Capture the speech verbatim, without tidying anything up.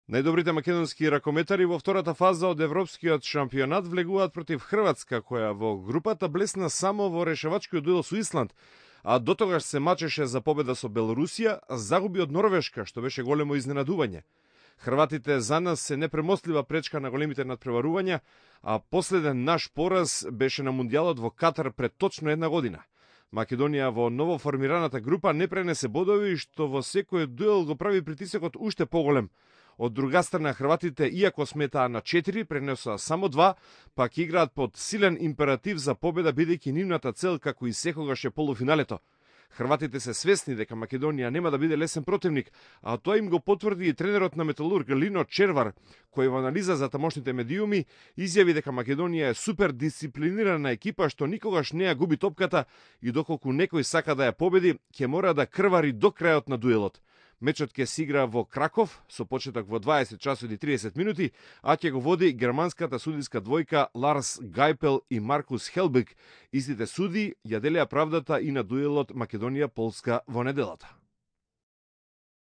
Најдобрите македонски ракометари во втората фаза од европскиот шампионат влегуваат против Хрватска, која во групата блесна само во решавачкиот дуел со Исланд, а дотогаш се мачеше за победа со Белорусија, загуби од Норвешка, што беше големо изненадување. Хрватите за нас се непремостлива пречка на големите надпреварувања, а последен наш пораз беше на Мундијалот во Катар пред точно една година. Македонија во новоформираната група не пренесе бодови, што во секој дуел го прави притисокот уште поголем. Од друга страна, хрватите, иако сметаа на четири, пренесоа само два, пак играат под силен императив за победа, бидејќи нивната цел, како и секогаш, е полуфиналето. Хрватите се свесни дека Македонија нема да биде лесен противник, а тоа им го потврди и тренерот на Металург Лино Червар, кој во анализа за тамошните медиуми изјави дека Македонија е супер дисциплинирана екипа што никогаш не ја губи топката и доколку некој сака да ја победи, ќе мора да крвари до крајот на дуелот. Мечот ќе се игра во Краков со почеток во дваесет часот и триесет минути, а ќе го води германската судиска двојка Ларс Гајпел и Маркус Хелбек. Истите суди ја делеа правдата и на дуелот Македонија-Полска во неделата.